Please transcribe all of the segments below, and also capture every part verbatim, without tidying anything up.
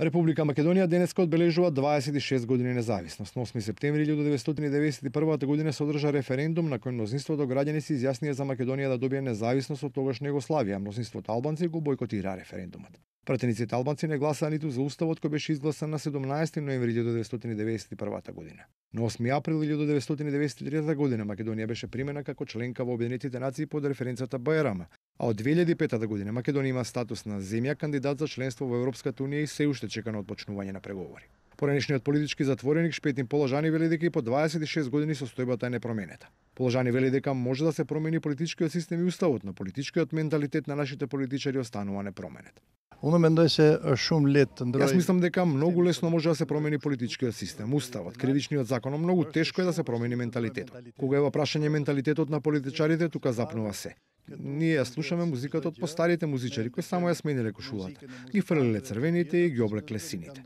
Република Македонија денеска одбележува дваесет и шест години независност. На осми септември илјадум деветстотини деветдесет и прва година се одржа референдум на кој мнозинството граѓани се изјаснија за Македонија да добие независност од тогашна Југославија. Мнозинството албанци го бойкотираа референдумот. Пратениците албанци не гласаа ниту за уставот кој беше изгласан на седумнаесети ноември илјадум деветстотини деветдесет и прва година. На осми април илјадум деветстотини деветдесет и трета година Македонија беше примена како членка во Обединетите нации под референцата БРМ, а од две илјади и пета година Македонија има статус на земја кандидат за членство во Европската унија и се уште чека на отпочнување на преговори. Поранешниот политички затвореник Шпетин Положани вели дека и по дваесет и шест години состојбата е непроменета. Положани вели дека може да се промени политичкиот систем и уставот, но политичкиот менталитет на нашите политичари останува непроменет. Unë mendoj se është shumë lehtë të ndrojë. Јас мислам дека многу лесно може да се промени политичкиот систем, уставот, кривичниот закон, но многу тешко е да се промени менталитетот. Кога е во прашање менталитетот на политичарите, тука запнува се. Ние ја слушаме музиката од постарите музичари кои само ја смениле кошулата, ги фрлеле црвените и ги облекле сините.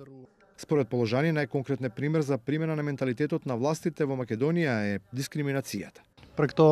Според Положани, најконкретен пример за примена на менталитетот на властите во Македонија е дискриминацијата. Për këto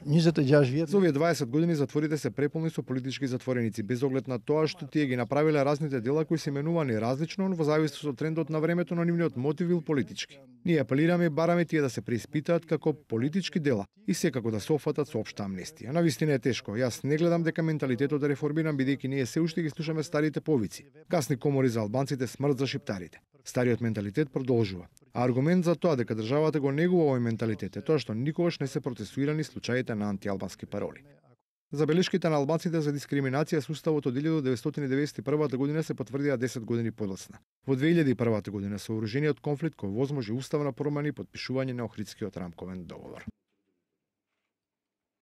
njëzet e gjashtë vjet. За овие дваесет години затворите се преполни со политички затвореници, без оглед на тоа што тие ги направиле разните дела кои се именувани различно во зависност од трендот на времето, но нивниот мотив бил политички. Ние апелираме и бараме тие да се преиспитаат како политички дела и секако да се офатат со општа амнестија. Навистина е тешко. Јас не гледам дека менталитетот е реформиран бидејќи ние се уште ги слушаме старите повици. Гасни комори за албанците, смрт за шиптарите. Стариот менталитет продолжува. А аргумент за тоа дека државата го негува овој менталитет е тоа што никогаш не се процесуирани случаите на антиалбански пароли. Забелешките на албанците за дискриминација со уставот од илјадум деветстотини деветдесет и прва година се потврдија десет години подоцна. Во две илјади и прва година сооружениот конфликт кој возможи уставна промена и потпишување на Охридскиот рамковен договор.